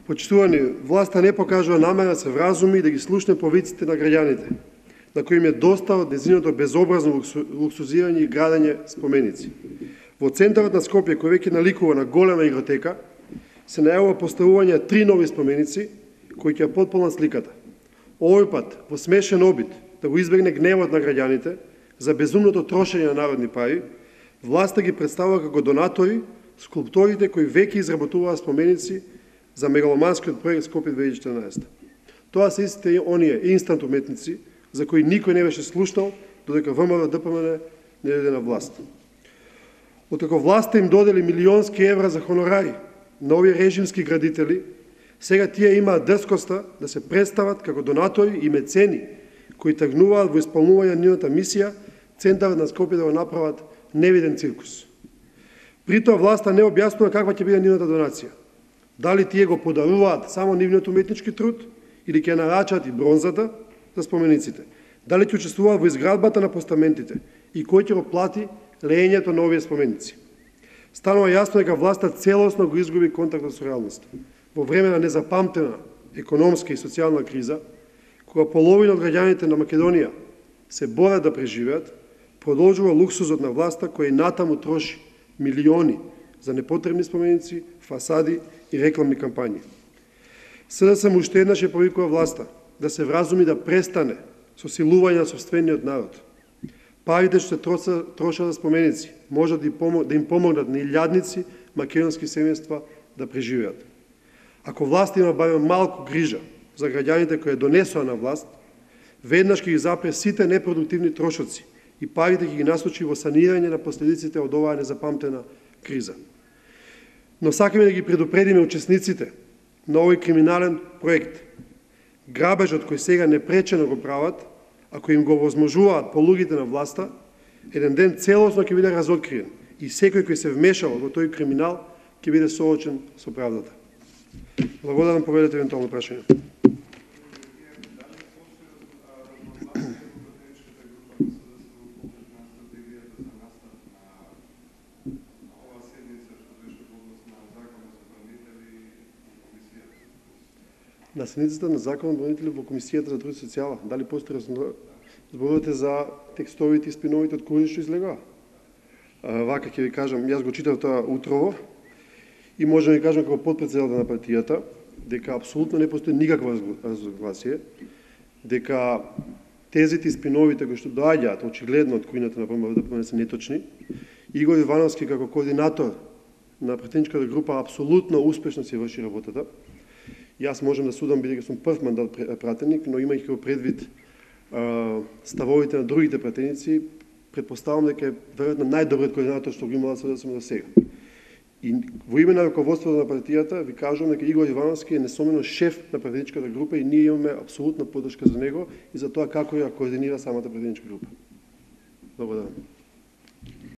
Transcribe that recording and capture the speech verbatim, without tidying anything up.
Почитувани, власта не покажува намера да се вразуми и да ги слушне повиците на граѓаните, на кои им е доста од незиното безобразно луксузирање и градење споменици. Во центарот на Скопје, кој веќе наликува на голема игротека, се најавува поставување три нови споменици, кои ќе потполнат сликата. Овој пат, во смешен обид да го избегне гневот на граѓаните за безумното трошење на народни пари, власта ги представува како донатори скулпторите кои веќе изработуваа споменици за мегаломанскиот проект Скопје две илјади и четрнаесетта. Тоа се истите оние инстант уметници за кои никој не беше слушнал додека ВМРО Д П М Н не дојде на власт. Откако власта им додели милионски евра за хонорари на овие режимски градители, сега тие имаат дрскоста да се представат како донатори и мецени кои тргнуваат во исполнување на нивната мисија центарот на Скопје да го направат невиден циркус. При тоа власта не објаснува каква ќе биде нивната донација. Дали тие го подаруваат само нивниот уметнички труд или ќе нарачат и бронзата за спомениците? Дали ќе учествуваат во изградбата на постаментите и кој ќе го плати леењето на овие споменици? Станува јасно дека власта целосно го изгуби контактот со реалноста. Во време на незапамтена економска и социјална криза, кога половина од граѓаните на Македонија се борат да преживеат, продолжува луксузот на власта кој натаму троши милиони за непотребни споменици, фасади и рекламни кампањи. С Д С М уште еднаш ја повикува власта да се вразуми да престане со силување на сопствениот народ. Парите што се трошат за споменици можат да им помогнат на илјадници македонски семејства да преживеат. Ако власта има барем малку грижа за граѓаните кои донесоа на власт, веднаш ќе ги запре сите непродуктивни трошоци и парите ќе ги насочи во санирање на последиците од оваа незапамтена криза. Но сакаме да ги предупредиме учесниците на овој криминален проект. Грабежот кој сега непречено го прават, ако им го возможуваат полугите на власта, еден ден целосно ќе биде разоткриен и секој кој се вмешал во тој криминал ќе биде соочен со правдата. Благодарам, поведете евентуално прашање. На седницата на Законот бранители во Комисијата за труд и социјала, дали постои зборувате за текстовите и спиновите од кои што излегоа? Вака ќе ви кажам, јас го читав тоа утрово и може да ви кажам како потпредседател на партијата дека апсолутно не постои никакво разногласие, дека тезите и спиновите кои што доаѓаат очигледно од кујната на ВМРО Д П М Н се неточни. Игор Ивановски како координатор на пратеничката група апсолутно успешно си врши работата. Јас можам да судам бидејќи сум прв мандат пратеник, но имајќи го предвид ставовите на другите пратеници, претпоставам дека е веројатно најдобриот координатор што го имала С Д С М до сега. И во име на раководството на партијата ви кажувам дека Игор Ивановски е несомнено шеф на пратеничката група и ние имаме апсолутна поддршка за него и за тоа како ја координира самата пратеничка група. Благодарам.